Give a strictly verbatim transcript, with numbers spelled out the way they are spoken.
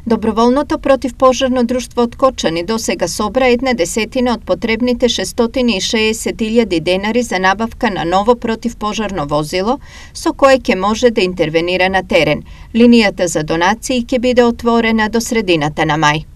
Доброволното противпожарно друштво од Кочани досега собра една десетина од потребните шестстотини и шеесет илјади денари за набавка на ново противпожарно возило со кое ќе може да интервенира на терен. Линијата за донации ќе биде отворена до средината на мај.